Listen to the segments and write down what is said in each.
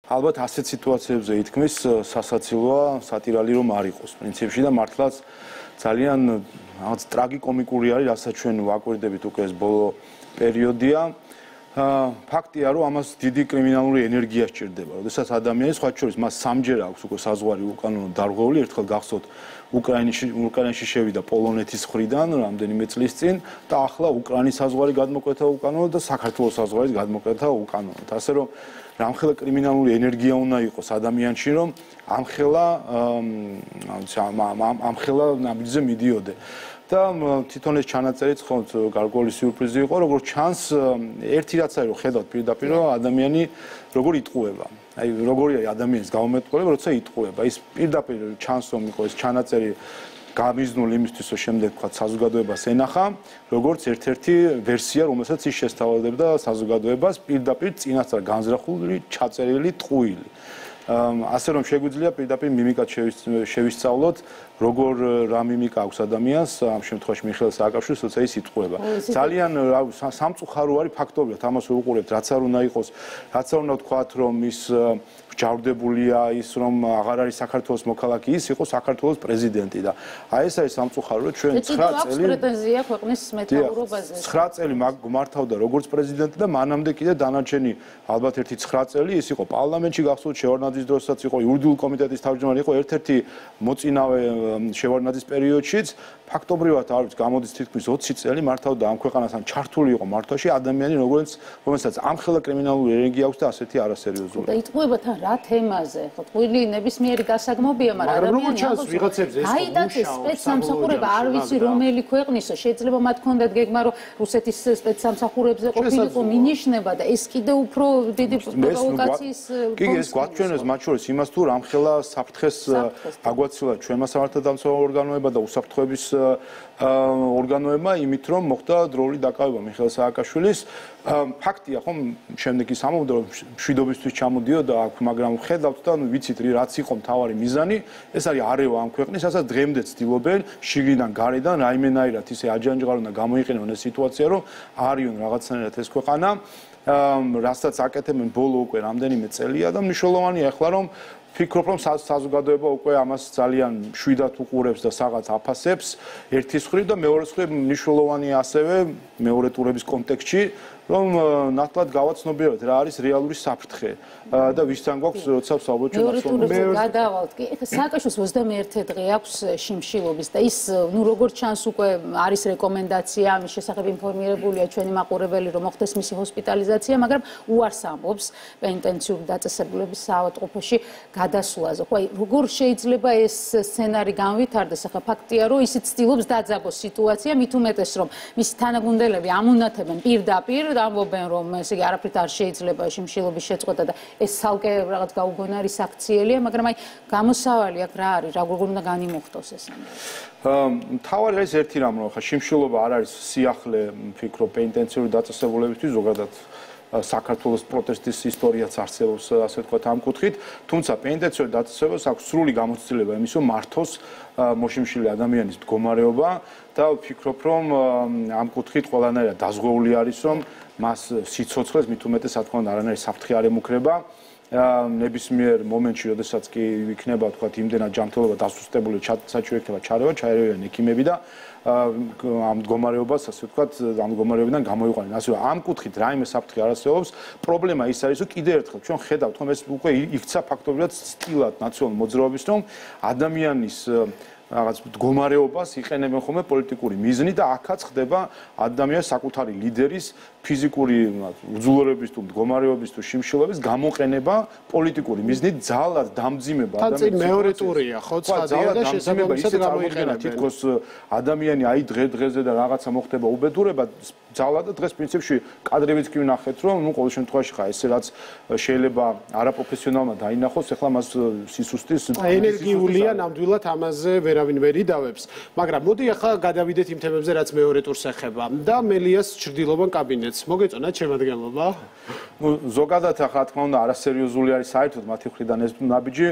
ალბათ ასეთ სიტუაციებზე ითქმის სასაცილოა სატირალი რომ არ იყოს პრინციპში და მართლაც ძალიან რაღაც ტრაგიკომიკური არის, რასაც ჩვენ ვაკვირდებით უკვე ეს ბოლო პერიოდია. ფაქტია, რომ ამას დიდი კრიმინალური ენერგია სჭირდება. როდესაც ადამიანი სხვა შორის მას სამჯერ აქვს უკვე საზღვარი უკანონო დარღვეული, ერთხელ გახსოვთ უკრაინაში შევიდა პოლონეთის მხრიდან რამდენიმე წლის წინ და ახლა უკრაინის საზღვარი გადმოკვეთა უკანონოდ და საქართველოს საზღვარი გადმოკვეთა უკანონოდ. ასე რომ რამხელა კრიმინალური ენერგია უნდა იყოს ადამიანში, რომ ამხელა ნაბიჯზე მიდიოდე. და თვითონ ეს ჩანაწერიც ხო გარკვეული სიურპრიზი იყო, როგორც ჩანს, ერთი რაც არის რომ ხედავთ პირდაპირ რომ ადამიანი როგორ იტყუება. აი როგორი არის ადამიანის გამომეტყველება, როცა იტყუება. ის პირდაპირ ჩანს რომ იყო ეს ჩანაწერი გამიზნული იმისთვის, რომ შემდეგ თქვა საზოგადოებას ენახა, როგორც ერთ-ერთი ვერსია, რომელსაც ის შესთავაზებდა საზოგადოებას პირდაპირ წინასწარ განზრახული, ჩაწერილი ტყუილი. ასე რომ შეგვიძლია პირდაპირ მიმიკაც შევისწავლოთ, როგორ რა მიმიკა აქვს ადამიანს, ამ შემთხვევაში მიხეილ სააკაშვილის, როცა ის იტყუება. ძალიან სამწუხარო არის ფაქტობრივად, ამას ვუყურებთ, რაც არ უნდა იყოს, რაც არ უნდა ვთქვათ, რომ ის ჯავრდებულია ის რომ აღარ არის საქართველოს მოქალაქე, ის იყო საქართველოს პრეზიდენტი და აი ეს არის სამწუხარო, რომ ჩვენ 9 წელი პრეტენზია ქვეყნის მეთაურობაზე. 9 წელი მართავდა როგორც პრეზიდენტი და მანამდე კიდე დანარჩენი ალბათ ერთი 9 წელი ის იყო პარლამენტში გახსოვთ შევარდნაძის დროსაც იყო იურიდიული კომიტეტის თავმჯდომარე, იყო ერთ-ერთი მოწინავე შევარდნაძის პერიოდშიც ფაქტობრივად არის გამოდის თითქმის 20 წელი მართავდა ამ ქვეყანას ან ჩართული იყო მართვაში ადამიანი რომელსაც ამხელა კრიმინალური ენერგია აქვს და ასეთი არასერიოზული. და იტყუება თან რა თემაზე? ხო, ტყუილი ნებისმიერი გასაგმობია, მაგრამ ადამიანი აიტაცეს სპეცსამსახურება არ ვიცი რომელი ქვეყნისო, შეიძლება მათ ქონდათ გეგმა რომ რუსეთის სპეცსამსახურებზე ყოფილიყო მინიშნება და ეს კიდე უფრო დიდი პროვოკაციის კი ეს გვაჩვენებს მათ შორის იმას თუ რამხელა საფრთხეს აგვაცილა ჩვენმა სამართალდამცავ ორგანოებმა და უსაფრთხოების ორგანოებმა იმით რომ მოხდა დროული დაკავება მიხეილ სააკაშვილის ფაქტია ხომ შემდეგ ის ამბობდა რომ მშვიდობისთვის ჩამოდიოდა აქ მაგრამ ხედავთ და ვიცით რაც იყო მთავარი მიზანი ეს არის არევა ამ ქვეყნის რასაც დღემდე ცდილობენ შიგნიდან გარედან რაიმენაირად ისე აჯანჯღარონ და გამოიყენონ ეს სიტუაცია რომ არიონ რაღაცნაირად ეს ქვეყანა რასაც აკეთებენ ბოლო უკვე რამდენიმე წელია და მნიშვნელოვანია ახლა რომ ფიქრობ რომ საზოგადოება უკვე ამას ძალიან მშვიდად უყურებს და რაღაც აფასებს ერთის მხრივ და მეორეს მხრივ მნიშვნელოვანია ასევე მეორე ტურების კონტექსტში რომ ნათლად გავაცნობიეროთ რა არის რეალური საფრთხე და ვისთან გვაქვს როცა ვსაუბრობთ ჩვენ გადავალთ კი ეხლა სააკაშვილს 21 დღე აქვს შიმშილობის და ის ნუ როგორც ჩანს უკვე არის რეკომენდაცია ამის შესახებ ინფორმირებულია ჩვენი მაყურებელი რომ მოხდეს მისი ჰოსპიტალიზაცია მაგრამ უარს ამბობს პენიტენციური დაწესებულების საავადმყოფოში გადასვლაზე ხო აი როგორ შეიძლება ეს სცენარი განვითარდეს ახლა ფაქტია რომ ისიც ცდილობს დაძაბოს სიტუაცია მით უმეტეს რომ მისი თანაგუნდელები ამუნათებენ პირდაპირ ამბობენ რომ ესე იგი არაფრით არ შეიძლება შიმშილობის შეწყვეტა და ეს ცალკე რაღაც გაუგონარი საქციელია მაგრამ აი გამოსავალი აქ რა არის როგორ უნდა განიმოხტოს ეს მთავარი არის ერთი რამ რომ ხა შიმშილობა არ არის სიახლე ფიქრობ პენიტენციური დაწესებულებისთვის ზოგადად საქართველოს პროტესტის ისტორიაც არსებობს ასე ვთქვათ ამ კუთხით თუმცა პენიტენციური დაწესებულებას აქვს სრული გამოცდილება იმის რომ მართოს მოშიმშილი ადამიანის მდგომარეობა და ვფიქრობ რომ ამ კუთხით ყველანაირად დაზღვეული არის რომ მას სიცოცხლეს მით უმეტეს რა თქმა უნდა არანაირი საფრთხე არ ემუქრება ნებისმიერ მომენტში როდესაც კი იქნება ვთქვათ იმდენად ჯანმრთელობა დასუსტებული საჭირო იქნება ჩაერევიან ექიმები და ამ მდგომარეობას ასე ვთქვათ ამ მდგომარეობიდან გამოიყვანენ ასე რომ ამ კუთხით რაიმე საფრთხე არ არსებობს პრობლემა ის არის რომ კიდევ ერთხელ ჩვენ ხედავთ რომ ეს უკვე იქცა ფაქტობრივად სტილად ნაციონალური მოძრაობის რომ ადამიანის რაღაც მდგომარეობას იყენებენ ხოლმე პოლიტიკური მიზნით და აქაც ხდება ადამიანის საკუთარი ლიდერის ფიზიკური უძლურების თუ მდგომარეობის თუ შიმშილობის გამოყენება პოლიტიკური მიზნით ძალად დამძიმება ადამიანის მეორე ტურია ხო ცხადია და შესაძლებლად გამოიყენება თითქოს ადამიანი აი დღე-დღეზე და რაღაცა მოხდება უბედურება ძალად და დღეს პრინციპში კადრებიც კი ვნახეთ რომ ნუ ყოველ შემთხვევაში ხა ესე რაც შეიძლება არაპროფესიონალმა დაინახოს ახლა მას სისუსტის ენერგიულია ნამდვილად ამაზე ვერავინ ვერ იდავებს მაგრამ მოდი ახლა გადავიდეთ იმ თემებზე რაც მეორე ტურს ეხება და მელიას ჩრდილოვან კაბინეტს მოგეწონათ შემადგენლობა ზოგადად ახლა რა თქმა უნდა არასერიოზული არის საერთოდ მათი მხრიდან ეს ნაბიჯი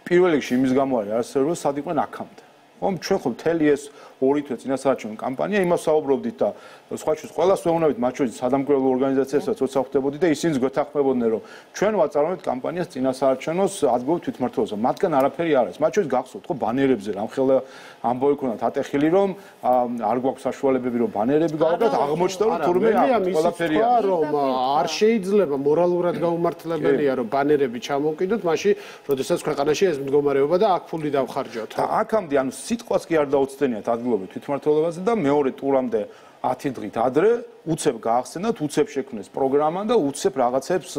პირველ რიგში იმის გამო არის არასერიოზული სად იყვნენ აქამდე ხომ ჩვენ ხო მთელი ეს 2 თვე წინასაარჩევნო კამპანია იმას საუბრობდით და სხვა შორის ყველას ვეუბნებით მათ შორის სადამკვირვებლო ორგანიზაციებსაც როცა ხვდებოდი და ისინიც გვეთანხმებოდნენ რომ ჩვენ ვაწარმოებთ კამპანიას წინასაარჩევნოს ადგილობრივ თვითმმართველობაზე მათგან არაფერი არ არის მათ შორის გახსოვთ ხო ბანერებზე რამხელა ამბავი ქონდათ ატეხილი რომ არ გვაქვს საშუალებები რომ ბანერები გავაკეთოთ აღმოჩნდა რომ თურმე ყველაფერია რომ არ შეიძლება მორალურად გაუმართლებელია რომ ბანერები ჩამოვკიდოთ მაშინ როდესაც ქვეყანაში ეს მდგომარეობა და აქ ფული დავხარჯოთ აქამდე ანუ სიტყვას კი არ დაუცდენიათ ადგილობრივ თვითმმართველობაზე და მეორე ტურამდე 10 დღით ადრე უცებ გაახსენათ, უცებ შექმნეს პროგრამა და უცებ რაღაცებს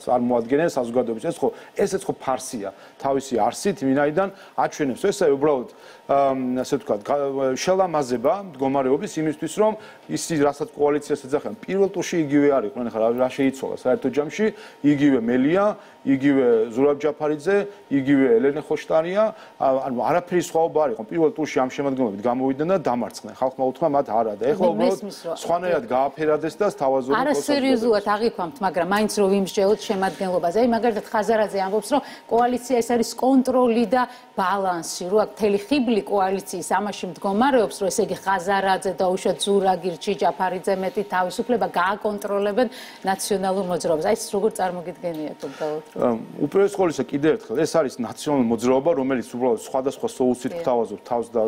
წარმოადგენენ საზოგადოებას. ესეც ხო ფარსია, თავისი არსით, ვინაიდან აჩვენებს ესა უბრალოდ ასე ვთქვათ, შელამაზება მდგომარეობის იმისთვის, რომ ის რასაც კოალიციას ეძახიან, პირველ ტურში იგივე არ იყვნენ, ხა რა შეიცვალა საერთო ჯამში, იგივე მელია, იგივე ზურაბ ჯაფარიძე, იგივე ელენე ხოშტარია, ანუ არაფერი სხვაობა არ იყო. პირველ ტურში ამ შემადგენლობით გამოვიდნენ და დამარცხდნენ. ხალხმა უთხრა მათ არა და ეხლა უბრალოდ სხვანაირად გააფერადეს და თავაზობრივ არა სერიოზულად აღიქვამთ, მაგრამ მაინც რომ ვიმსჯელოთ შემადგენლობაზე. აი მაგალითად ხაზარაძე ამბობს, რომ კოალიცია ეს არის კონტროლი და ბალანსი, რომ აქ მთელი ხიბლი კოალიციის ამაში მდგომარეობს, რომ ესე იგი ხაზარაძე და უშუალოდ ზურაგირჩი, ჯაფარიძე მეტი თავისუფლება გააკონტროლებენ ნაციონალურ მოძრაობას. აი ეს როგორ წარმოგიდგენიათ უბრალოდ? უპირველეს ყოვლისა კიდევ ერთხელ ეს არის ნაციონალური მოძრაობა, რომელიც უბრალოდ სხვადასხვა სოუსით გთავაზობთ თავს და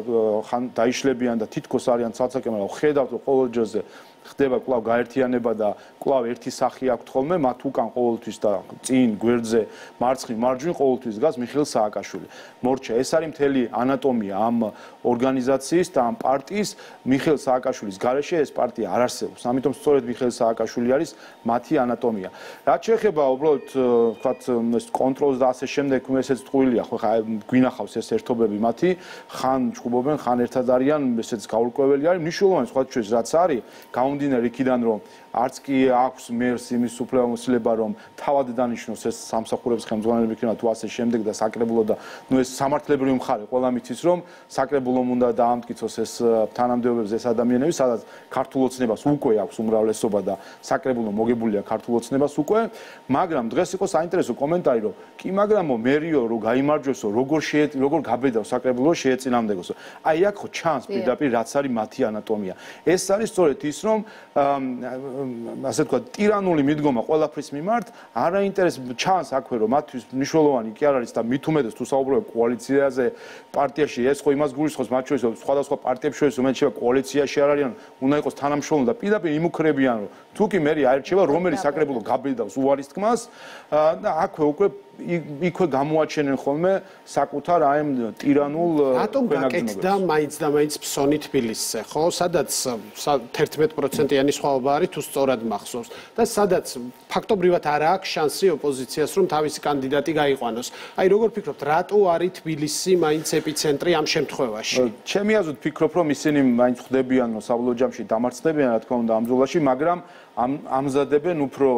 ხან დაიშლებიან და თითქოს არიან ცალ-ცალკე, მაგრამ ხედავთ რომ ყოველ ჯერზე ხდება კვლავ გაერთიანება და კვლავ ერთი სახი აქვთ ხოლმე მათ უკან ყოველთვის და წინ გვერდზე მარცხნივ მარჯვნივ ყოველთვის დგას მიხეილ სააკაშვილი. მორჩა ეს არის მთელი ანატომია ამ ორგანიზაციის და ამ პარტიის მიხეილ სააკაშვილის გარეშე ეს პარტია არ არსებობს. ამიტომ სწორედ მიხეილ სააკაშვილი არის მათი ანატომია. რაც შეეხება უბრალოდ ვთქვათ ეს კონტროლს და ასე შემდეგ ესეც ტყუილია ხო ხა გვინახავს ეს ერთობები მათი ხან ჭუბობენ ხან ერთად არიან ესეც გაურკვეველი არის მნიშვნელოვანი სხვა შორის რაც არის გამომდინარე იქიდან რომ არც კი აქვს მერს იმის უფლებამოსილება რომ თავად დანიშნოს ეს სამსახურების ხელმძღვანელები იქნება თუ ასე შემდეგ და საკრებულო და ნუ ეს სამართლებრივი მხარე ყველა მიცის რომ საკრებულომ უნდა დაამტკიცოს ეს თანამდებობებზე ეს ადამიანები სადაც ქართულ ოცნებას უკვე აქვს უმრავლესობა და საკრებულო მოგებულია ქართულ ოცნებას უკვე მაგრამ დღეს იყო საინტერესო კომენტარი რომ კი მაგრამო მერიო რომ გაიმარჯვესო როგორ გაბედავს საკრებულო შეეწინამდეგოსო აი აქ ხო ჩანს პირდაპირ რაც არის მათი ანატომია ეს არის სწორედ ის რომ ასე თქვა ტირანული მიდგომა ყველაფრის მიმართ არ აინტერესებს ჩანს აქვე რომ მათთვის მნიშვნელოვანი კი არ არის და მით უმეტეს თუ საუბრობთ კოალიციაზე პარტიაში ეს ხო იმას გულისხმობს მათ შორის სხვადასხვა პარტიებს შორის რომელიც შევა კოალიციაში არ არიან უნდა იყოს თანამშრომლობა და პირდაპირ იმუქრებიან რომ თუ კი მე აერჩევა რომელი საკრებულო გაბედავს უარის თქმას და აქვე უკვე იქვე გამოაჩენენ ხოლმე საკუთარ აი ამ ტირანულ რატომ გაკეთდა მაინც და მაინც ფსონი თბილისზე ხო სადაც 11%-იანი სხვაობა არის თუ სწორად მახსოვს და სადაც ფაქტობრივად არ აქვს შანსი ოპოზიციას რომ თავისი კანდიდატი გაიყვანოს აი როგორ ფიქრობთ რატო არის თბილისი მაინც ეპიცენტრი ამ შემთხვევაში ჩემი აზრით ფიქრობ რომ ისინი მაინც ხვდებიან საბოლოო ჯამში დამარცხდებიან რა თქმა უნდა ამ ბრძოლაში მაგრამ ამზადებენ უფრო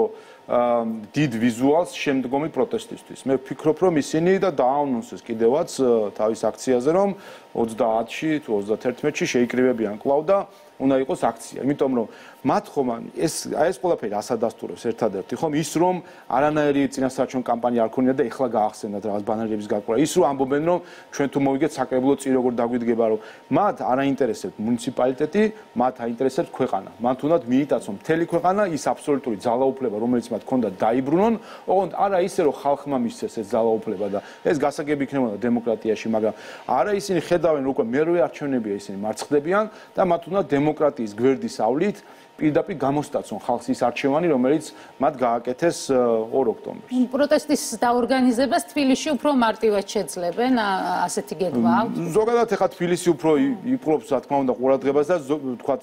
დიდ ვიზუალს შემდგომი პროტესტისთვის. მე ვფიქრობ, რომ ისინი და დააანონსეს კიდევაც თავის აქციაზე, რომ 30-ში თუ 31-ში შეიკრიბებიან კვლავ და უნდა იყოს აქცია. იმიტომ რომ მათ ხომ ეს ყველაფერი ასადასტურებს ერთადერთი ხომ ის რომ არანაირი წინასაარჩევნო კამპანია არ ქონია და ეხლა გაახსენათ რაღაც ბანერების გაკვრა. ის რომ ამბობენ რომ ჩვენ თუ მოვიგეთ საკრებულო წინ როგორ დაგვიდგება რომ მათ არ აინტერესებთ მუნიციპალიტეტი, მათ აინტერესებთ ქვეყანა. მათ უნდათ მიიტაცონ მთელი ქვეყანა ის აბსოლუტური ძალაუფლება რომელიც მათ ჰქონდათ დაიბრუნონ, ოღონდ არა ისე რომ ხალხმა მისცეს ეს ძალაუფლება და ეს გასაგები იქნებოდა დემოკრატიაში, მაგრამ არა ისინი ხედავენ რომ უკვე მერვე არჩევნებია ისინი მარცხდებიან და მათ უნდა დემოკრატიის გვერდის ავლით პირდაპირ გამოსტაცონ ხალხს ის არჩევანი, რომელიც მათ გააკეთეს 2 ოქტომბერს. პროტესტის დაორგანიზებას თბილისში უფრო მარტივად შეძლებენ, ასეთი გეგმა აქვს. ზოგადად ეხლა თბილისი უფრო იპყრობს, რა თქმა უნდა, ყურადღებას და თქვათ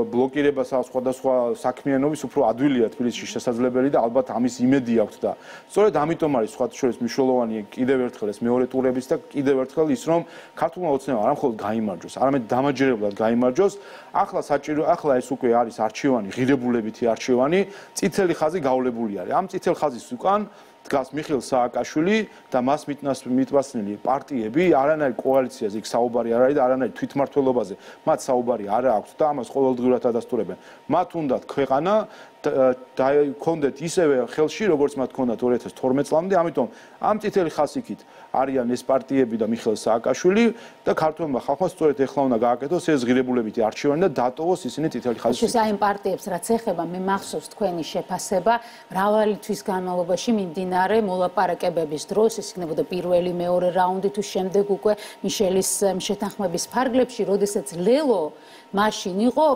ბლოკირებას სხვადასხვა საქმიანობის უფრო ადვილია თბილისში შესაძლებელი და ალბათ ამის იმედი აქვს და სწორედ ამიტომ არის სხვა შორის მნიშვნელოვანი კიდევ ერთხელ ეს მეორე ტურების და კიდევ ერთხელ ის რომ ქართულმა ოცნებამ არა მხოლოდ გაიმარჯვოს, არამედ დამაჯერებლად გაიმარჯვოს. ახლა ეს უკვე არის არჩევანი, ღირებულებითი არჩევანი, წითელი ხაზი გავლებული არის. ამ წითელ ხაზის უკან დგას მიხეილ სააკაშვილი და მას მიტვასნილი პარტიები, არანაირ კოალიციაზე იქ საუბარი არ არის და არანაირ თვითმმართველობაზე მათ საუბარი არ აქვს და ამას ყოველდღიურად ადასტურებენ. მათ უნდათ ქვეყანა და კონდეთ ისევე ხელში, როგორც მათ ჰქონდათ 2012 წლამდე, ამიტომ ამ წითელი ხასიათით არიან ეს პარტიები და მიხეილ სააკაშვილი და ქართულმა ხალხმა სწორედ ეხლა უნდა გააკეთოს ეს ღირებულებითი არჩევანი და დატოვოს ისინი წითელი ხასიათით. აი ამ პარტიებს რაც ეხება, მე მახსოვს თქვენი შეფასება, მრავალი თვის განმავლობაში მიმდინარე მოლაპარაკებების დროს, ეს იქნებოდა პირველი, მეორე რაუნდი თუ შემდეგ უკვე მიშელის შეთანხმების ფარგლებში, როდესაც ლელო მაშინ იყო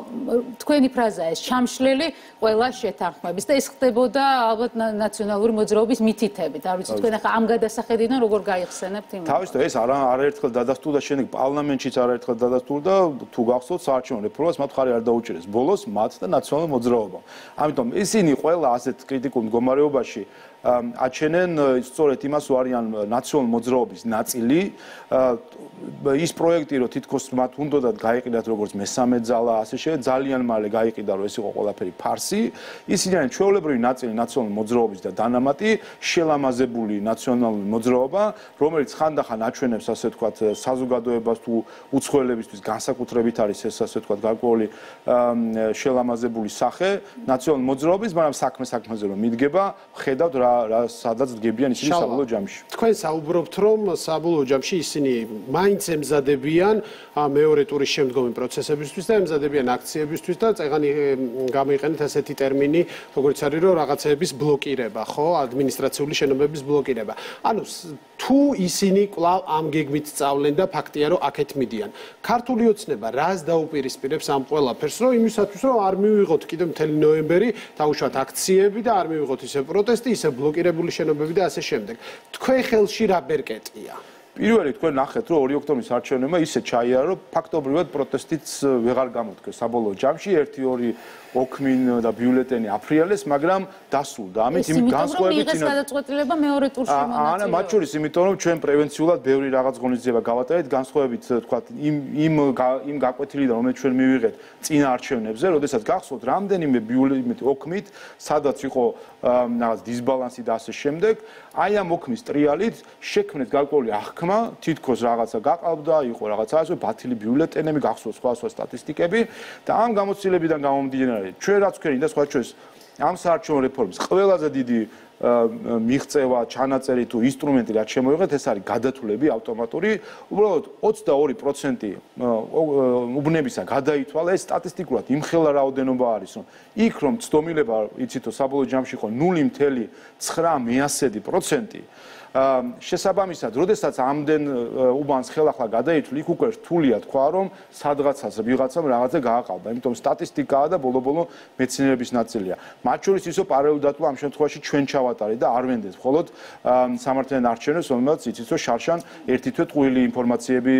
თქვენი ფრაზაა ეს ჩამშლელი ყველა შეთანხმების და ეს ხდებოდა ალბათ ნაციონალური მოძრაობის მითითებით. არ ვიცი თქვენ ახლა ამ გადასახედიდან როგორ გაიხსენებთ იმას? თავისთავად ეს არაერთხელ დადასტურდა, შემდეგ პარლამენტშიც არაერთხელ დადასტურდა, თუ გახსოვთ საარჩევნო რეფორმას მათ ხარი არ დაუჭირეს. ბოლოს მათ და ნაციონალურ მოძრაობამ. ამიტომ ისინი ყველა ასეთ კრიტიკულ მდგომარეობაში აჩენენ სწორედ იმას, რომ არიან ნაციონალურ მოძრაობის ნაწილი. ის პროექტი, რომ თითქოს მათ უნდათ გაიყიდათ როგორც მესამე ძალა, ასე შეიძლება ძალიან მალე გაიყიდა, რომ ეს იყო ყველაფერი ფარსი. ისინი არიან ჩვეულებრივი ნაწილი ნაციონალური მოძრაობის და დანამატი, შელამაზებული ნაციონალური მოძრაობა, რომელიც ხანდახან აჩვენებს, ასე ვთქვათ, საზოგადოებას თუ უცხოელებისთვის განსაკუთრებით არის ეს, ასე ვთქვათ, გარკვეული შელამაზებული სახე ნაციონალური მოძრაობის, მაგრამ საქმეზე რომ მიდგება, ხედავთ რა სადაც დგებიან ისინი საბოლოო ჯამში. თქვენ საუბრობთ, რომ საბოლოო ჯამში ისინი მაინც ემზადებიან მეორე ტურის შემდგომი პროცესებისთვის და ემზადებიან აქციებისთვის და წეგანი გამოიყენეთ ასეთი ტერმინი, როგორც არის რომ რაღაცეების ბლოკირება, ხო, ადმინისტრაციული შენობების ბლოკირება. ანუ თუ ისინი კვლავ ამ გეგმით სწავლენ და ფაქტია რომ აქეთ მიდიან. ქართული ოცნება რას დაუპირისპირებს ამ ყველაფერს, რომ იმისათვის რომ არ მივიღოთ კიდევ მთელი ნოემბერი დაუშვათ აქციები და არ მივიღოთ ისე პროტესტი, ისე ბლოკირებული შენობები და ასე შემდეგ. თქვენ ხელში რა ბერკეტია? პირველი თქვენ ნახეთ, რომ 2 ოქტომბრის არჩევნებმა ისე ჩაიარა, რომ ფაქტობრივად პროტესტიც ვეღარ გამოდგეს საბოლოო ჯამში, 1-2 ოქმინ და ბიულეტენი აფრიალეს, მაგრამ დასულდა. ამით იმ განსხვავებით ის გადაწყვეტილება მეორე ტურში მონაწილეობა. არა, მათ შორის იმიტომ რომ ჩვენ პრევენციულად ბევრი რაღაც ღონისძიება გავატარეთ, განსხვავებით თქვათ იმ გაკვეთილიდან, რომელიც ჩვენ მივიღეთ წინა არჩევნებზე, როდესაც გახსოვთ რამდენიმე ბიულეტენი ოქმით, სადაც იყო რაღაც დისბალანსი და ასე შემდეგ, აი ამ ოქმის ტრიალით შექმნეს გარკვეული აღქმა, თითქოს რაღაცა გაყავდა, იყო რაღაცა ასე ბათილი ბიულეტენები, გახსოვთ სხვა სტატისტიკები და ამ გამოცდილებიდან გამომდინარე ჩვენ რაც ვქენი და სხვა ჩვენს ამ საარჩევნო რეფორმის ყველაზე დიდი მიღწევა, ჩანაწერი თუ ინსტრუმენტი რაც შემოიღეთ, ეს არის გადათვლები ავტომატური. უბრალოდ 22% უბნებისა გადაითვალა, ეს სტატისტიკურად იმხელა რაოდენობა არის, რომ იქ რომ ცდომილება, იცით, საბოლოო ჯამში იყო 0.9%. შესაბამისად, როდესაც ამდენ უბანს ხელახლა გადაითვლი, იქ უკვე რთულია თქვა, რომ სადღაცას ვიღაცამ რაღაცა გააყალბა. იმიტომ სტატისტიკაა და ბოლო-ბოლო მეცნიერების ნაწილია. მათ შორის ისო პარალელურად დატოვა ამ შემთხვევაში ჩვენ ჩავატარეთ და არ ვენდეთ მხოლოდ სამართლიან არჩევნებს, რომელსაც იცით, რომ შარშან ერთი თვე ტყუილი ინფორმაციები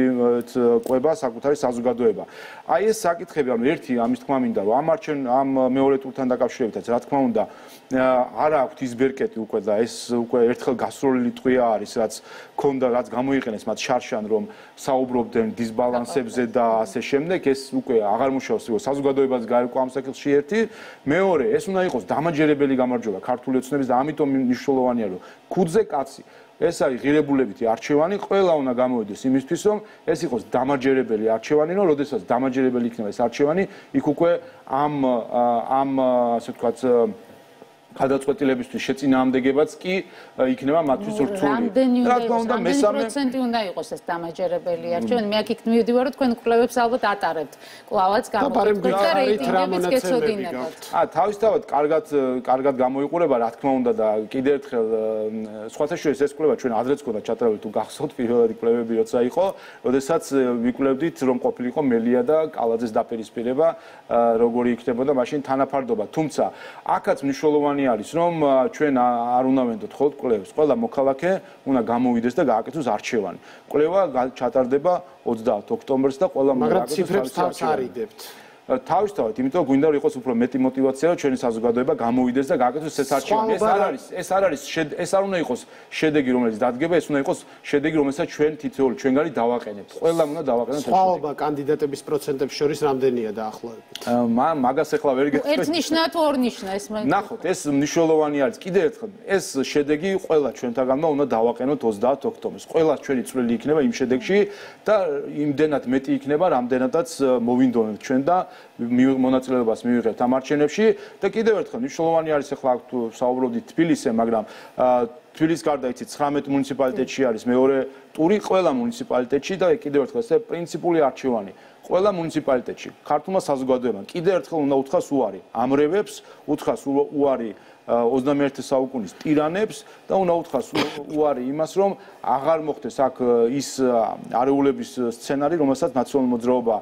ყვება საკუთარი საზოგადოება. აი ეს საკითხები, ანუ ერთი ამის თქმა მინდა, რომ ამ მეორე ტურთან დაკავშირებითაც, რა თქმა უნდა, არ აქვს ის ბერკეტი უკვე და ეს უკვე ერთხელ გასროლილი ტყვია არის, რაც ქონდა, რაც გამოიყენეს მათ შარშან, რომ საუბრობდნენ დისბალანსებზე და ასე შემდეგ, ეს უკვე აღარ მუშაობს, საზოგადოებას გაერკვა ამ საკითხში ერთი. მეორე, ეს უნდა იყოს დამაჯერებელი გამარჯვება ქართული ოცნების და ამიტომ მნიშვნელოვანია, რომ ქუდზე კაცი ეს არის ღირებულებითი არჩევანი, ყველა უნდა გამოვიდეს იმისთვის, რომ ეს იყოს დამაჯერებელი არჩევანი, რომ როდესაც დამაჯერებელი იქნება ეს არჩევანი, იქ უკვე ამ ასე ვთქვათ გადაწყვეტილებისთვის შეწინააღმდეგებაც კი იქნება მათთვის რთული. რა თქმა უნდა, მესამე პროცენტი უნდა იყოს ეს დამაჯერებელი არჩევანი. მე აქ იქ მივიდივარ, რომ თქვენ კვლევებს ალბათ ატარებთ. კვლავაც გამოგვიყვეთ და რეიტინგებიც გეცოდინებათ. თავისთავად კარგად გამოიყურება, რა თქმა უნდა და კიდევ ერთხელ სხვათა შორის ეს კვლევა ჩვენ ადრეც გქონდა ჩატარებული, თუ გახსოვთ პირველადი კვლევები როცა იყო, როდესაც ვიკვლევდით, რომ ყოფილიყო მელია და კალაძეს დაპირისპირება, როგორი იქნებოდა მაშინ თანაფარდობა. თუმცა აქაც მნიშვნელოვანი არის რომ ჩვენ არ უნდა ვენდოთ ხოლმე კვლევებს. ყველა მოქალაქე უნდა გამოვიდეს და გააკეთოს არჩევანი. კვლევა ჩატარდება 30 ოქტომბერს და ყველა მაგრამ ციფრებს თავს არიდებთ. თავისთავად, იმიტომ გვინდა რომ იყოს უფრო მეტი мотиваცია, რომ ჩვენი საზოგადოება გამოვიდეს და გააკეთოს ეს არჩევანი. ეს არ უნდა იყოს შედეგი, რომელიც დადგება, ეს უნდა იყოს შედეგი, რომელსაც ჩვენ თითოეული ჩვენგანი დავაყენებთ. ყველამ უნდა დავაყენოთ. სხვაობა კანდიდატების პროცენტების შორის რამდენია დაახლოებით? მაგას ახლა ვერ გეტყვი. ერთნიშნა თუ ორნიშნა ეს მე. ნახოთ, ეს მნიშვნელოვანი არის. კიდევ ერთხელ, ეს შედეგი ყველა ჩვენთაგანმა უნდა დავაყენოთ 30 ოქტომბერს. ყველა ჩვენი წვლილი იქნება იმ შედეგში და იმდენად მეტი იქნება, რამდენადაც მოვინდომებთ ჩვენ და მონაწილეობას მივიღებთ ამ არჩევნებში და კიდევ ერთხელ მნიშვნელოვანი არის ახლა აქ თუ საუბრობდით თბილისზე, მაგრამ თბილისის გარდა იცით 19 მუნიციპალიტეტში არის მეორე ტური ყველა მუნიციპალიტეტში და კიდევ ერთხელ ეს პრინციპული არჩევანი. ყველა მუნიციპალიტეტში ქართულმა საზოგადოებამ კიდევ ერთხელ უნდა უთხრას უარი ამრევებს, უთხრას უარი 21 საუკუნის ტირანებს და უნდა უთხრას უარი იმას, რომ აღარ მოხდეს აქ ის არეულების სცენარი, რომელსაც ნაციონალური მოძრაობა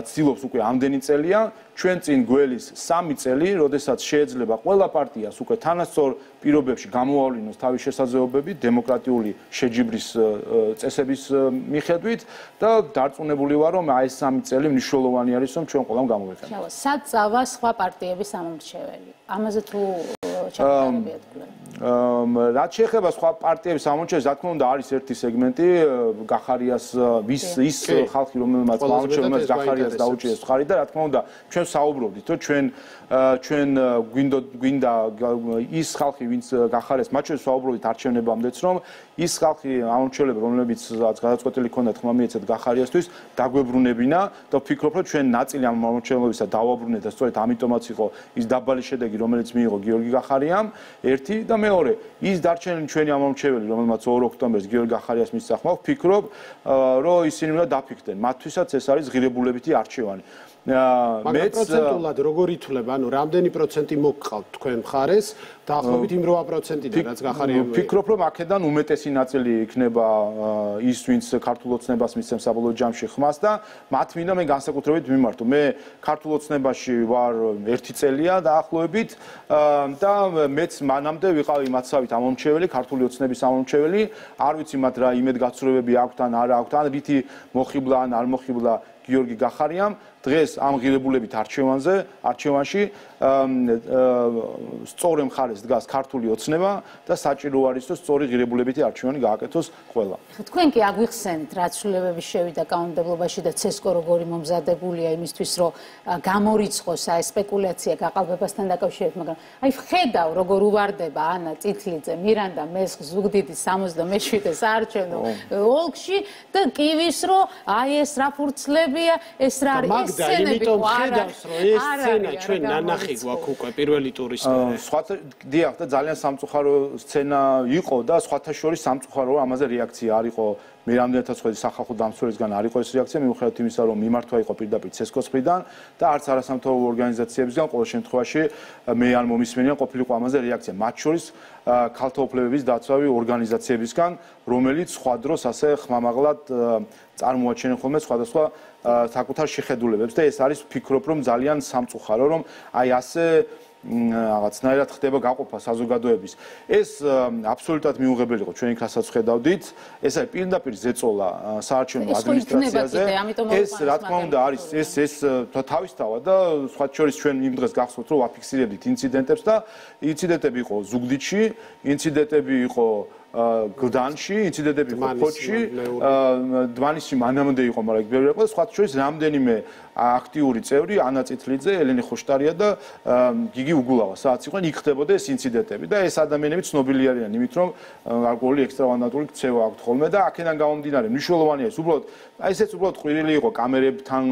ცდილობს უკვე ამდენი წელია, ჩვენ წინ გველის 3 წელი, როდესაც შეიძლება ყველა პარტიას უკვე თანასწორ პირობებში გამოავლინოს თავის შესაძლებლობები დემოკრატიული შეჯიბრის წესების მიხედვით და დარწმუნებული ვარ, რომ აი ეს 3 წელი მნიშვნელოვანი არის, რომ ჩვენ ყველამ გამოვიყენოთ. სად წავა სხვა პარტიების სამომრჩეველი? ამაზე თუ ჩაგდარებიათ კვლავ. რაც შეეხება სხვა პარტიების სამომრჩეველს, რა თქმა უნდა, არის ერთი სეგმენტი, გახარიას ის ხალხი, რომელმაც გამორჩეულებს გახარიას დაუჭირეს ხარი და რა თქმა უნდა, ჩვენ საუბრობდით, რომ ჩვენ გვინდა ის ხალხი, ვინც გახარიას, მათ შორის საუბრობდით არჩევნებამდეც, რომ ის ხალხი ამორჩეულები, რომლებიც გადაწყვეტილი ქონდათ ხმა მიეცათ გახარიასთვის, დაგვებრუნებინა და ვფიქრობ, რომ ჩვენ ნაწილი ამ ამორჩეულებისა დავაბრუნეთ და სწორედ ამიტომაც იყო ის დაბალი შედეგი, რომელიც მიიღო გიორგი გახარიამ, ერთი და მეორე, ის დარჩენილი ჩვენი ამორჩეველი, რომელმაც 2 ოქტომბერს გიორგი გახარიას მისცა ხმა, ვფიქრობ, რომ ისინი უნდა დაფიქრდნენ. მათთვისაც ეს არის ღირებულებითი არჩევანი. მაგრამ პროცენტულად როგორ ითვლება, ანუ რამდენი პროცენტი მოგყავთ თქვენ მხარეს დაახლოებით იმ 8%-დან, რაც გახარიამ. ვფიქრობ, რომ აქედან უმეტესი ნაწილი იქნება ის, ვინც ქართულ ოცნებას მისცემს საბოლოო ჯამში ხმას და მათ მინდა მე განსაკუთრებით მიმართო. მე ქართულ ოცნებაში ვარ 1 წელია დაახლოებით და მეც მანამდე ვიყავი მათსავით ამომრჩეველი, ქართული ოცნების ამომრჩეველი. არ ვიცი მათ რა იმედგაცრუებები აქვთ ან არა აქვთ, ან რითი მოხიბლა ან არ მოხიბლა გიორგი გახარიამ. დღეს ამ ღირებულებით არჩევანში სწორ მხარეს დგას ქართული ოცნება და საჭირო არის რომ სწორი ღირებულებითი არჩევანი გააკეთოს ყველა. თქვენ კი აგვიხსენით რა ცვლილებები შევიდა კანონმდებლობაში და ცესკო როგორი მომზადებულია იმისთვის რომ გამორიცხოს აი სპეკულაცია გაყალბებასთან დაკავშირებით, მაგრამ აი ვხედავ როგორ უვარდება ანა წითლიძე, მირანდა მესხ ზუგდიდის 77 საარჩევნო ოლქში და კივის რომ აი ეს რა ფურცლებია, ეს რა არის და იმიტომ ხედავს რომ ეს სცენა ჩვენ ნანახი გვაქვს უკვე პირველი ტურის სხვათა დიახ და ძალიან სამწუხარო სცენა იყო და სხვათა შორის სამწუხაროა ამაზე რეაქცია არ იყო მე რამდენადაც ხედი სახალხო დამცველისგან არ იყო ეს რეაქცია მიუხედავად იმისა რომ მიმართვა იყო პირდაპირ ცესკოს მხრიდან და არც არასამთავრობო ორგანიზაციებისგან ყოველ შემთხვევაში მე არ მომისმენია ყოფილიყო ამაზე რეაქცია მათ შორის ქალთა უფლებების დაცვავი ორგანიზაციებისგან რომელიც სხვა დროს ასე ხმამაღლად წარმოაჩენენ ხოლმე სხვადასხვა საკუთარ შეხედულებებს და ეს არის ვფიქრობ რომ ძალიან სამწუხარო რომ აი ასე რაღაცნაირად ხდება გაყოფა საზოგადოების. ეს აბსოლუტურად მიუღებელი იყო ჩვენი რასაც ხედავდით. ეს არის პირდაპირ ზეწოლა საარჩევნო ადმინისტრაციაზე. ეს რა თქმა უნდა არის ეს თავისთავად და სხვა შორის ჩვენ იმ დღეს გახსოვთ რომ ვაფიქსირებდით ინციდენტებს და ინციდენტები იყო ზუგდიდში, ინციდენტები იყო გლდანში, ინციდენტები იყო ფოთში, დმანისში მანამდე იყო, მაგრამ იქ ბევრი იყო, სხვა შორის რამდენიმე აქტიური წევრი, ანა წითლიძე, ელენე ხოშტარია და გიგი უგულავა, სადაც იყვნენ, იქ ხდებოდა ეს ინციდენტები და ეს ადამიანები ცნობილი არიან იმით, რომ ალკოჰოლი ექსტრავაგანტული ქცევა აქვთ ხოლმე და აქედან გამომდინარე, მნიშვნელოვანია ეს უბრალოდ, აი ესეც უბრალოდ ყვირილი იყო კამერებთან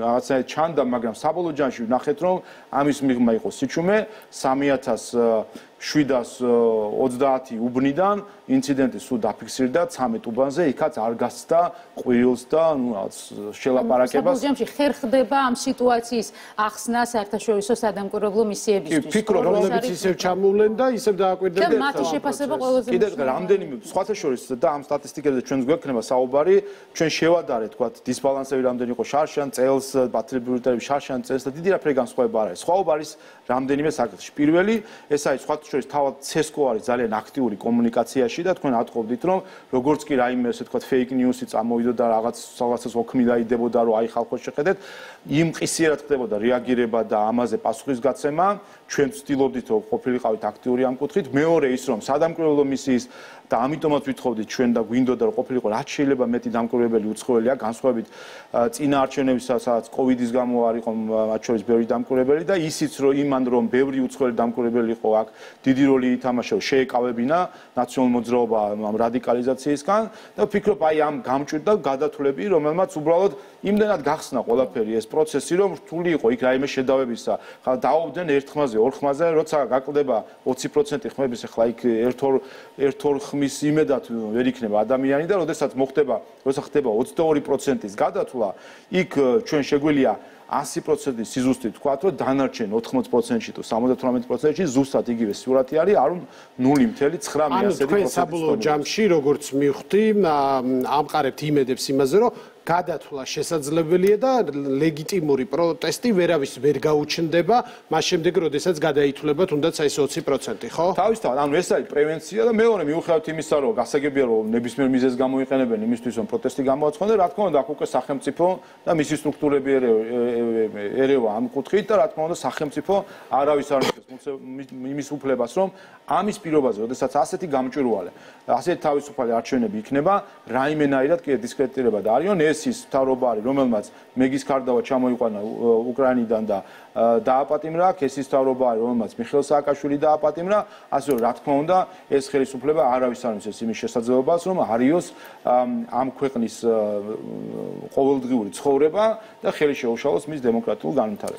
რაღაცა ჩანდა, მაგრამ საბოლოო ჯამში ვნახეთ, რომ ამის მიღმა იყო სიჩუმე 3720 უბნიდან ინციდენტი სულ დაფიქსირდა 13 უბანზე, იქაც არ გასცდა ყვირილს და ნუ რაღაც შელაპარაკებას. საბოლოო ჯამში ხერ ხდება ამ სიტუაციის ახსნა საერთაშორისო სადამკვირვებლო მისიებისთვის. ვფიქრობ, რომლებიც ისევ ჩამოვლენ და ისევ დააკვირდნენ და მათი შეფასება ყველაზე კიდევ რამდენიმე სხვათა შორის და ამ სტატისტიკებზე ჩვენს გვექნება საუბარი, ჩვენ შევადარეთ, თქვა დისბალანსები რამდენი იყო შარშან წელს, ბატალიონები შარშან წელს და დიდი რაფერი განსხვავება არ არის. სხვაობა არის რამდენიმე საკითხში. პირველი, ეს არის სხვათა შორის თავად CESCO არის ძალიან აქტიური კომუნიკაციაში და თქვენ ატყობდით რომ როგორც კი რაიმე ესე თქვა fake news-ი წამოვიდოდა რაღაცას ოქმი დაიდებოდა რომ აი ხალხო შეხედეთ იმ ყისიერად ხდებოდა რეაგირება და ამაზე პასუხისგაცემა ჩვენ ვცდილობდით რომ ყოფილიყავით აქტიური ამ კუთხით მეორე ის რომ სადამკვირვებლო მისიის და ამიტომაც ვითხოვდით ჩვენ და გვინდოდა რომ ყოფილიყო რაც შეიძლება მეტი დამკვირვებელი უცხოელია განსხვავებით წინა არჩევნებისა სადაც კოვიდის გამო არ იყო მათ შორის ბევრი დამკვირვებელი და ისიც რომ იმან რომ ბევრი უცხოელი დამკვირვებელი იყო აქ დიდი როლი ითამაშა შეეკავებინა ნაციონალურ მოძრაობა ამ რადიკალიზაციისგან და ვფიქრობ აი ამ გამჭვირდა გადათვლები რომელმაც უბრალოდ იმდენად გახსნა ყველაფერი ეს პროცესი რომ რთული იყო იქ რაიმე შედავებისა ხა დაობდნენ ერთ ხმაზე ორ ხმაზე როცა გაკლდება 20% ხმების ახლა იქ ერთ-ორ ხმის იმედად ვერ იქნება ადამიანი და როდესაც როცა ხდება 22%-ის გადათვლა იქ ჩვენ შეგვიძლია 100% სიზუსტით ვთქვათ, რომ დანარჩენ 80%-ში თუ 78%-ში ზუსტად იგივე სურათი არის, არ 0.9%. ანუ თქვენ საბოლოო ჯამში როგორც მივხვდი, ამყარებთ იმედებს იმაზე, რომ გადათვლა შესაძლებელია და ლეგიტიმური პროტესტი ვერავის ვერ გაუჩნდება, მას შემდეგ როდესაც გადაითვლება თუნდაც აი ეს 20%, ხო? თავისთავად, ანუ ეს არის პრევენცია და მეორე მიუხედავად იმისა, რომ გასაგებია რომ ნებისმიერ მიზეზს გამოიყენებენ იმისთვის, რომ პროტესტი გამოაცხადონ, რა თქმა უნდა, აქ უკვე სახელმწიფო და მისი სტრუქტურები ერევა ამ კუთხით და რა თქმა უნდა, სახელმწიფო არავის არ მისცემს იმის უფლებას, რომ ამის პირობაზე, როდესაც ასეთი გამჭვირვალე, ასეთი თავისუფალი არჩევნები იქნება, რაიმენაირად კი დისკრედიტირება და არიან ეს ის მთავრობა არის, რომელმაც მეგის კარდავა ჩამოიყვანა უკრაინიდან და დააპატიმრა, ეს ის მთავრობა არის, რომელმაც მიხეილ სააკაშვილი დააპატიმრა, ასე რომ რა თქმა უნდა, ეს ხელისუფლება არავის არ მისცემს იმის შესაძლებლობას, რომ არიოს ამ ქვეყნის ყოველდღიური ცხოვრება და ხელი შეუშალოს მის დემოკრატიულ განვითარებას.